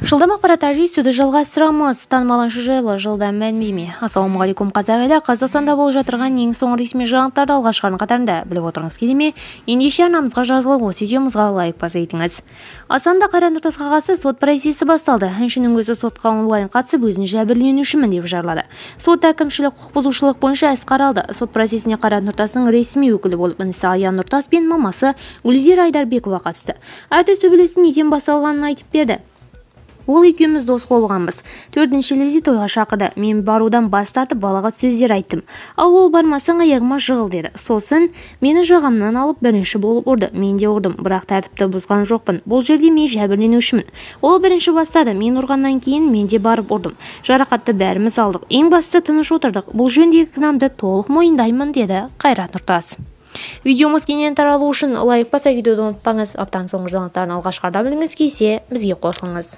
Жылдам ақпараттар жүйесі жалғастырамыз. Танымал әнші жайлы жылдам мәлімдеме. Ассалаумағалейкум қазақ елі. Қазақстанда болып жатырған ең соңғы ресми жаңалықтарды алғашқылардың қатарында біліп отырыңыз келе ме? Ендеше арнамызға жазылып, осы видеомызға лайк басып етіңіз. Астанада Қайрат Нұртасқа қатысты сот процесі басталды. Әншінің өзі сотқа онлайн қатысып, өзін жәбірленушімін деп жарлады. Сот әкімшілік құқық бұзушылық бойынша іс қаралды. Сот процесіне Қайрат Нұртастың ресми өкілі болып інісі Аян Нұртас пен мамасы Гүлзира Айдарбекова қатысты. Әртіс төбелестің неден басталғанын айтып берді. Ол екеуміз дос болғанбыз. 4 шілдеде тойға шақырды. Мен барудан бас тартып балаға сөздер айттым. Ал ол бармасаң аяғыма жығыл деді. Сосын мені жағамнан алып бірінші болып ұрды. Мен де ұрдым, бірақ тәртіпті бұзған жоқпын. Бұл жерде мен жәбірленушімін. Ол бірінші бастады. Мен ұрғаннан кейін мен де барып ұрдым. Жарақатты бәріміз алдық. Ең бастысы тыныш отырдық. Бұл жөндегі кінәмді толық мойындаймын деді Қайрат Нұртас. Видеомыз кеңінен таралу үшін лайк басып, видеоды ұмытпаңыз. Аптаның соңғы жаңалықтарын алғашқыда білгіңіз келсе, бізге қосылыңыз.